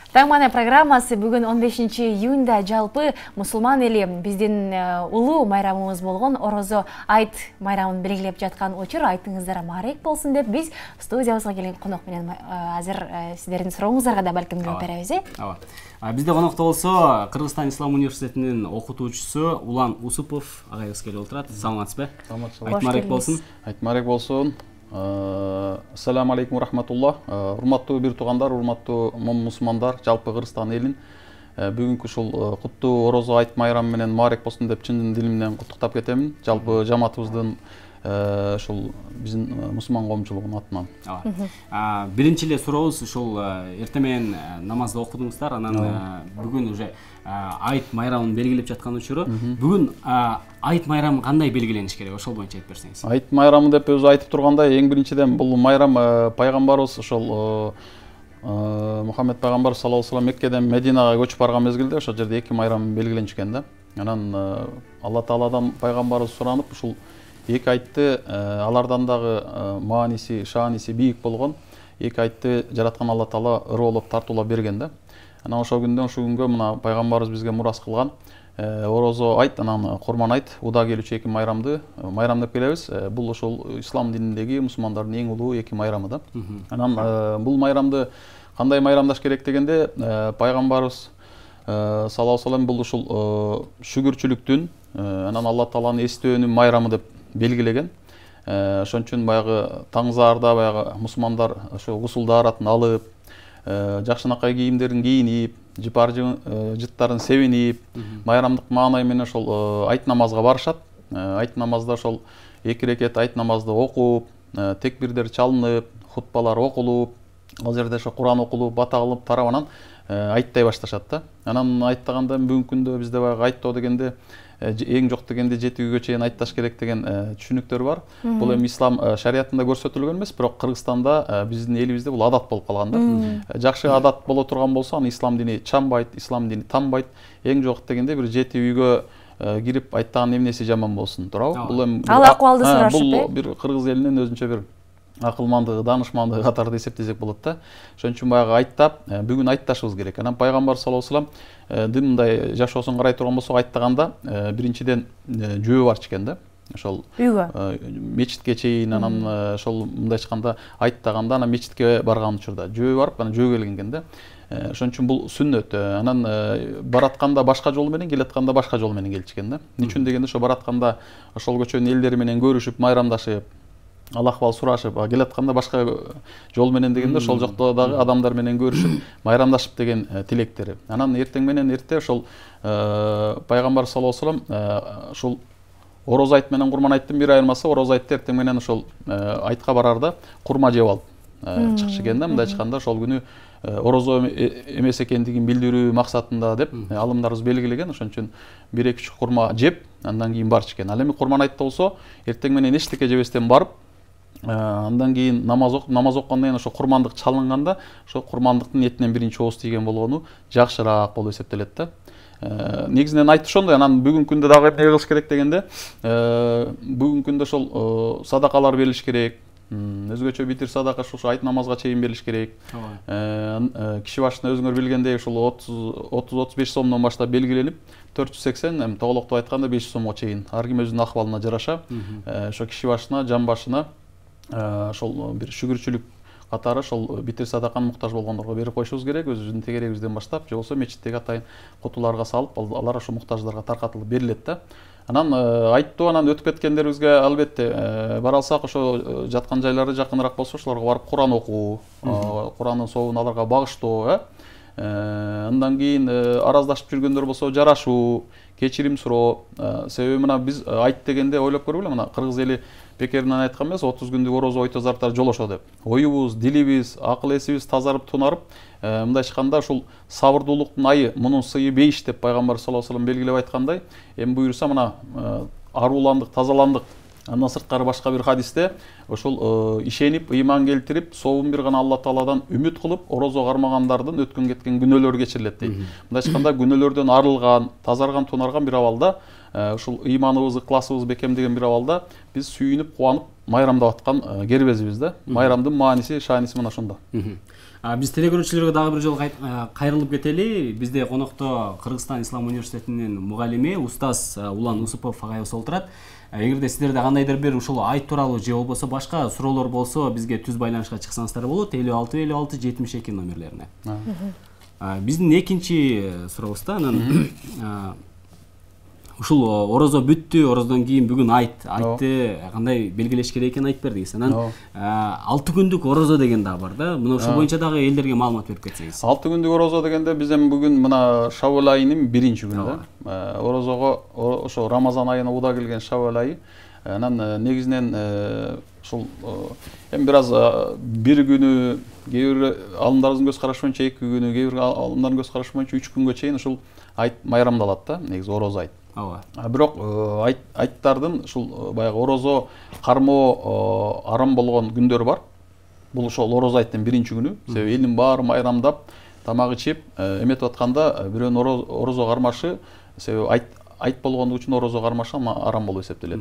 Таңмана программасы бүгін 15 июнда жалпы мусулман эли биздин улуу майрамыбыз болгон Орозо айт майрамын белгилеп жаткан учур. Айтыңыздар маарек болсун деп биз студиябызга келген конок менен азыр сиздердин сурооңуздарга да балким жооп беребиз. Бизде конокто болсо Кыргызстан Ислам университетинин окутуучусу Улан Усупов агайыбыз келип отурат. Саламатсызбы? Айт маарек болсун. Айт маарек болсун. Ассаламу алейкум рахматуллах. Урматтуу бир туугандар, урматтуу мусулмандар, жалпы Кыргызстан элин бүгүнкү ушул куттуу Орозо айт майрамы менен маарек болсун деп чын дилимден куттуктап кетемин. Жалпы жамаатыбыздын ушул биздин мусулман коомчулугунун атынан. Биринчи эле сурообуз ушул эртең менен намазды окудуңуздар, анан бүгүн уже айт майрамын белгилеп жаткан учуру. Бүгүн айт майрамы кандай белгилениш керек? Ошол боюнча айтып берсеңиз. Айт майрамы деп өзү айтып тургандай, эң биринчиден бул майрам пайгамбарыбыз ошол Мухаммед пайгамбар саллаллаху алейхи ва саллям Меккеден Мединага көчүп барган мезгилде ошол жерде эки майрам белгиленишкен да. Анан Алла Тааладан пайгамбарыбыз суранып ушул эки айтты алардан дагы мааниси, шааниси бийик болгон эки айтты жараткан Алла Таала ырыолоп тартуулап берген да. Анан ошол күндөн ушул күнгө мына пайгамбарыбыз бизге мурас кылган Орозо айт, анан Курман айт, уда келүүчү эки майрамды майрам деп келебиз. Бул ошол ислам дининдеги мусулмандардын эң улуу эки майрамы да. Анан бул майрамды кандай майрамдаш керек дегенде, пайгамбарыбыз саллаллаху алейхи ва саллям бул ушул шүгүрчүлүктүн, анан Алла Тааланы эстөөнүн майрамы деп белгилеген. Ошон үчүн баягы таңзаарда баягы мусулмандар ошо гусулдаарын алып, жакшынакай кийимдерин кийинип, жыпар жыттарын себинип, майрамдык маанай менен ошол айт намазга барышат. Айт намазда ошол эки рекет айт намазды окуп, текбирдер чалынып, хутбалар окулуп, ал жерде ошо Куран окулуп, бата кылып, тарабынан айттай башташат да. Анан айттагандан бүгүнкү күндө бизде баягы айттоо дегенде эң жок дегенде 7 күнгө чейин айтташ керек деген түшүнүктөр бар. Бул эми ислам шариятында көрсөтүлгөн эмес, бирок Кыргызстанда биздин элибизде бул адат болуп калган да. Жакшы адат боло турган болсо, аны ислам дини чамбайт, ислам дини танбайт. Эң жок дегенде бир 7 үйгө кирип айттаган эмнеси жаман болсун, туурабы? Бул эми ал акыбалды сурашып, бул бир кыргыз элинин өзүнчө бир акылмандыгы, данышмандыгы катарында эсептесек болот да. Ошон үчүн баягы айттап, бүгүн айтташыбыз керек. Анан пайгамбар саллаллаху алейхи ва саллям дымдай жашоосун карай турган болсок, айттаганда биринчиден жөө барчу экен да. Ошол мечитке чейин, анан ошол мындай айтканда айттаганда анан мечитке барган учурда жөө барып, анан жөө келген экен да. Ошон үчүн бул сүннөт. Анан баратканда башка жол менен, келатканда башка жол менен келчү экен да. Эмне үчүн дегенде, ошо баратканда ошол көчөнүн элдери менен көрүшүп, майрамдашып, Аллах ахвал сурашып, келатканда башка жол менен дегенде ошол жакта дагы адамдар менен көрүшүп, майрамдашып деген тилектери. Анан эртең менен эрте ошол пайгамбар саллаллаху алейхи ва саллям ошол Орозо айт менен Курман айттын бир айырмасы, Орозо айтты эртең менен ошол айтка барарда курма жеп алып чыкчу экен да. Мындай айтканда ошол күнү Орозо эмес экендигин билдирүү максатында деп алымдарыбыз белгилеген. Ошон үчүн 1-2 курма жеп, андан кийин барчу экен. Ал эми Курман айтта болсо, эртең менен эчтеке жебестен барып, андан кийин намаз окугандан кийин ошо курмандык чалынганда, ошо курмандыктын этинен биринчи ооз тийген болгону жакшыраак болуп эсептелет да. Негизинен айт ошондой. Анан бүгүнкү күндө дагы эмне кылыш керек дегенде, бүгүнкү күндө ошол садакалар берилиш керек. Өзгөчө битир садака ошо айт намазга чейин берилиш керек. Киши башына өзүңөр билгендей ошол 30-35 сомдон баштап белгиленип, 480, эми тоголоктоп айтканда 500 сомго чейин. Ар ким өзүнүн акыбалына жараша ошо киши башына, жан башына ошол бир шүгүрчүлүк катары ошол битир садаканы муктаж болгондорго берип койушубуз керек, өзүбүздүн тегерегибизден баштап, же болбосо мечиттеги атайын кутуларга салып, алар ошо муктаждарга таркатылып берилет да. Анан айттуу, анан өтүп кеткендерибизге албетте бара алсак, ошо жаткан жайлары жакыныраак болсо, ошолорго барып Куран окуу, Курандын сообун аларга багыштоо, андан кийин араздашып жүргөндөр болсо жарашуу, кечирим суроо. Себеби мына биз айт дегенде ойлоп көргүлө, мына кыргыз эли бекеринен айткан эмес, 30 күндүк орозо ойтозартар жолошо деп. Оюбуз, дилибиз, акыл эсибиз тазарып, тунарып, мындай айтканда ушул сабырдуулуктун айы, мунун сыйы 5 деп пайгамбар саллаллаху алейхи ва саллям белгилеп айткандай, эми буюрса мына арууландык, тазаландык. Андан сырткары башка бир хадисте ошол ишенип, ыйман келтирип, сообун бир гана Алла Тааладан үмүт кылып, орозо кармагандардын өткөн кеткен күнөөлөрү кечирилет дейт. Мындай айтканда күнөөлөрдөн арылган, тазарган, тунарган бир абалда ушул ыйманыбыз, ыкласыбыз бекемдеген бир абалда биз сүйүнүп, кубанып майрамдап аткан кербезбиз да. Майрамдын мааниси, шааниси мына ошондо. Биз телекөрүүчүлөргө дагы бир жолу кайрылып кетели. Бизде конокто Кыргызстан Ислам университетинин мугалими устаз Улан Усупов агайыбыз олтурат. Эгерде сиздерде кандайдыр бир ушул айт тууралуу же болбосо башка суроолор болсо, бизге түз байланышка чыксаңыздар болот 565672 номерлерине. Биздин экинчи сурообузда анан ушул орозо бүттү, орозодон кийин бүгүн айтты кандай белгилеш керек экенин айтып бердиңиз. Анан 6 күндүк орозо деген дагы бар да. Мына ушул боюнча дагы элдерге маалымат берип кетсеңиз. 6 күндүк орозо дегенде биз эми бүгүн мына Шавал айынын 1-күнү да. Орозого ошо Рамазан айына уда келген Шавал айы. Анан негизинен ушул эми бир аз бир күнү, кээ бир алымдарыбыздын көз карашы боюнча 2 күнү, кээ бир алымдардын көз карашы боюнча 3 күнгө чейин ушул айт майрамдалат да, негизи орозо айт. Бирок айттардын ушул баягы орозо кармоо арам болгон күндөрү бар. Бул ошол орозо айттын 1-күнү. Себеби элдин баары майрамдап, тамак ичип, эметип атканда бирөөнүн орозо кармашы, себеби айт болгондугу үчүн орозо кармашы арам болуп эсептелет.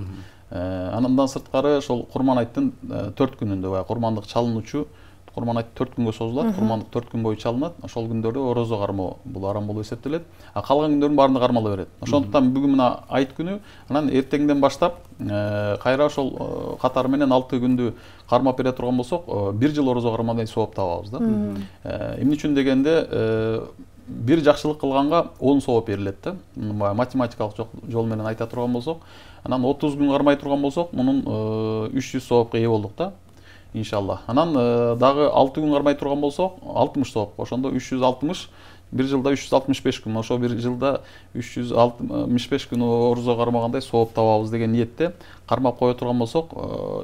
Андан сырткары ошол Курман айттын 4 күнүндө баягы курмандык чалынуучу, Курман айт 4 күнгө созулат, курмандык 4 күн бою чалынат. Ошол күндөрдө орозо кармоо бул арам болуп эсептелет. Калган күндөрдүн баарында кармала берет. Ошондуктан бүгүн мына айт күнү, анан эртеңден баштап кайра ошол катары менен 6 күндү кармап бере турган болсок, 1 жыл орозо кармагандай сооп табабыз да. Эмне үчүн дегенде, бир жакшылык кылганга 10 сооп берилет да. Математикалык жол менен айта турган болсок, анан 30 күн кармай турган болсок, мунун 300 соопко ээ болдук да. Иншалла. Анан дагы 6 күн кармай турган болсок, 60 сооп. Ошондо 360, бир жылда 365 күн. Ошо бир жылда 365 күн орозо кармагандай сооп табабыз деген ниетте кармап кое турган болсок,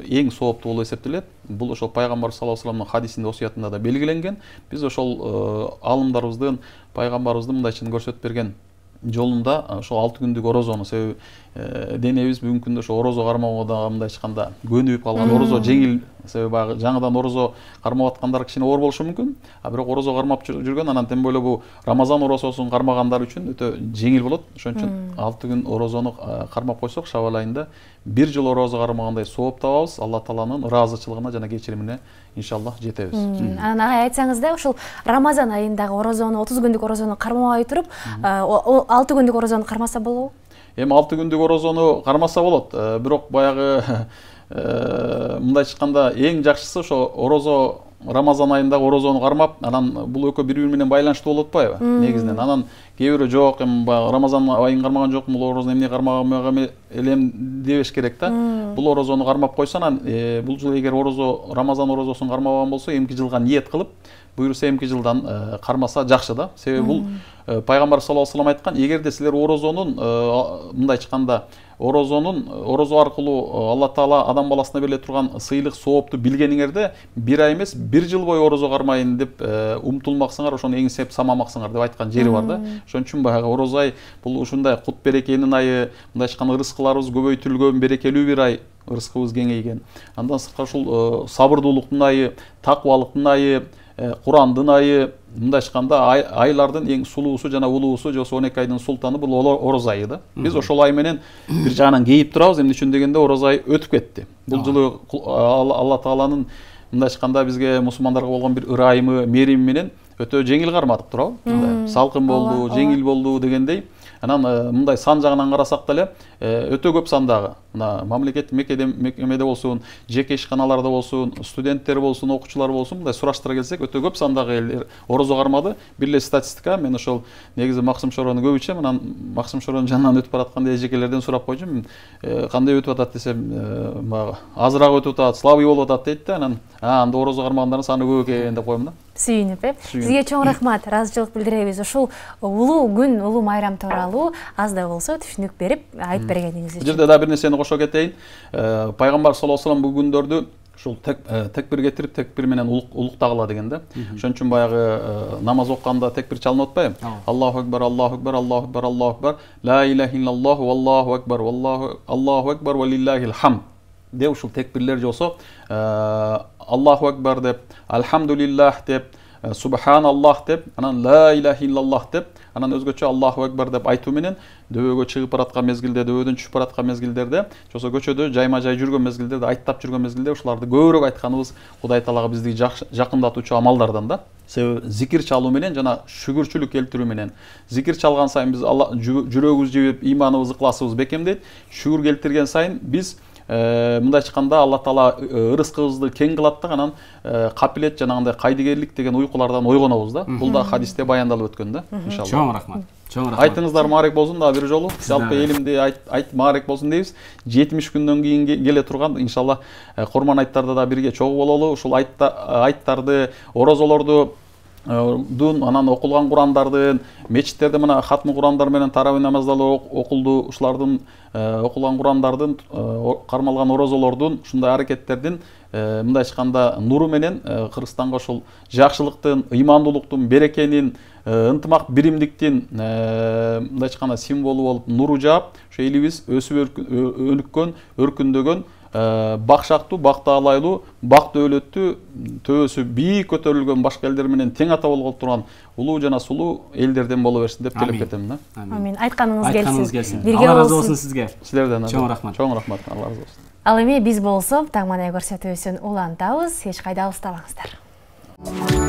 эң сооптуу болуп эсептелет. Бул ошол пайгамбар саллаллаху алейхи вассаламдын хадисинде, осуятында да белгиленген. Биз ошол алымдарыбыздын, пайгамбарыбыздын мындайча көрсөтүп берген жолунда ошол 6 күндүк орозону, себеби денебиз бүгүнкү күндө ошо орозо кармоого да мындайча айтканда көнүп калган. Орозо жеңил, себеби баягы жаңыдан орозо кармап аткандар кичине оор болушу мүмкүн. Бирок орозо кармап жүргөн, анан тем более бул Рамазан орозосун кармагандар үчүн өтө жеңил болот. Ошон үчүн 6 күн орозону кармап койсок, Шавал айында 1 жыл орозо кармагандай сооп табабыз. Алла Тааланын ыраазычылыгына жана кечиримине иншаллах жетебиз. Анан айтсаңыз да, ушул Рамазан айындагы орозону, 30 күндүк орозону кармабай туруп, 6 күндүк орозону кармаса болобу? Эми 6 күндүк орозону кармаса болот. Бирок баягы мындайча айтканда эң жакшысы ошо орозо Рамазан айындагы орозону кармап, анан бул экөө бири-бири менен байланыштуу болуп атпайбы? Негизинен. Анан кээ бирөө жок, эми Рамазан айын кармаган жокмун, бул орозону эмне кармагам элем дебеш керек да. Бул орозону кармап койсо, анан бул жыл эгер Рамазан орозосун кармабаган болсо, эмки жылга ниет кылып, буюрса эмки жылдан кармаса жакшы да. Себеби бул пайгамбар саллаллаху алейхи вассалам айткан, эгерде силер орозонун мындайча айтканда орозо аркылуу Алла Таала адам баласына бериле турган сыйлык, соопту билгениңерде, 1 ай эмес, 1 жыл бою орозо кармайын деп умтулмаксыңар, ошону эңсеп самамаксыңар деп айткан жери бар да. Ошон үчүн баягы орозо ай бул ушундай кут берекенин айы, мындайча айтканда рызкыларыбыз көбөйтүлгөн, берекелүү бир ай, рызкыбыз кеңейген. Андан сырткары ушул сабырдуулуктун айы, такыбалыктын айы, Курандын айы, мындайча айтканда айлардын эң сулуусу жана улуусу, же 12 айдын султаны бул орозо айы да. Биз ошол ай менен бир жагынан кейип турабыз. Эмне үчүн дегенде орозо ай өтүп кетти. Бул жылы Алла Тааланын мындайча айтканда бизге мусулмандарга болгон бир ырайымы, мерими менен өтө жеңил кармадык туурабы? Салкын болду, жеңил болду дегендей. Анан мындай сан жагынан карасак деле өтө көп сандагы мына мамлекеттик мекемеде болсун, жеке ишканаларда болсун, студенттер болсун, окуучулар болсун, мындай сураштыра келсек, өтө көп сандагы элдер орозо кармады. Бир эле статистика, мен ошол негизи Максым Шорону көбүчө, анан Максым Шоронун жанынан өтүп баратканда эжекелерден сурап койчумун, кандай өтүп атат десем, азыраак өтүп атат, слабый болуп атат дейт да. Анан анда орозо кармагандардын саны көп экен деп коем да. Сүйүнүп, сизге чоң рахмат, ыраазычылык билдиребиз. Ушул улуу күн, улуу майрам тууралуу аз да болсо түшүнүк берип айтып бергениңиз үчүн. Бул жерде да бир нерсени кошо кетейин. Пайгамбар саллаллаху алейхи вассалам бул күндөрдү ушул текбир кетирип, текбир менен улуктагыла деген да. Ошон үчүн баягы намаз окуганда текбир чалынып атпайбы? Аллаху акбар, Аллаху акбар, Аллаху акбар, Аллаху акбар, ла илаха иллаллаху, Аллаху акбар, Аллаху акбар ва лиллахил хамд деп ушул текбирлер болсо, Аллаху акбар деп, алхамдулиллах деп, субханаллах деп, анан ла илаха иллаллах деп, анан өзгөчө Аллаху акбар деп айтуу менен дөбөгө чыгып бараткан мезгилде, дөбөдөн түшүп бараткан мезгилдерде, жосо көчөдө жайма жай жүргөн мезгилдерде, айттап жүргөн мезгилде ушуларды көбүрөөк айтканыбыз Кудай Таалага бизди жакындатуучу амалдардан да. Себеби зикир чалуу менен жана шүгүрчүлүк келтирүү менен, зикир чалган сайын биз жүрөгүбүз жибип, иманыбыз, ыкласыбыз бекемдейт. Шүгүр келтирген сайын биз мындай айтканда Алла Таала ырыскыбызды кең кылат да, анан капилет жанагындай кайдыгерлик деген уйкулардан ойгонобуз да. Бул да хадисте баяндалып өткөн да, иншалла. Чоң рахмат. Чоң рахмат. Айтыңыздар маарек болсун дагы бир жолу. Жалпы элимди айт маарек болсун дейбиз. 70 күндөн кийин келе турган иншалла Курман айттарда да бирге чогуу бололу. Ушул айттарды, орозолорду анан окулган Курандардын, мечиттерде мына хатмы Курандар менен таравih намаздары окулду. Ушулардын окулган Курандардын, кармалган орозолордун, ушундай аракеттердин мындай айтканда нуру менен Кыргызстанга ошол жакшылыктын, ыймандуулуктун, берекенин, ынтымак биримдиктин мындай айтканда символу болуп нуру жаап, ошо элибиз өсүп өнүккөн, өркүндөгөн, бакшактуу, бактаалайлуу, бак дөөлөттүү, төбөсү бийик көтөрүлгөн башка элдер менен тең ата болгон турган улуу жана сулуу элдерден боло берсин деп тилеп кетем да. Амин. Айтканыңыз келсин. Алла разы болсун сизге. Силерден чоң рахмат. Чоң рахмат. Алла разы болсун. Ал эми биз болсо таңманай көрсөтүүсүн улантабыз. Эч кайда алыстабаңыздар.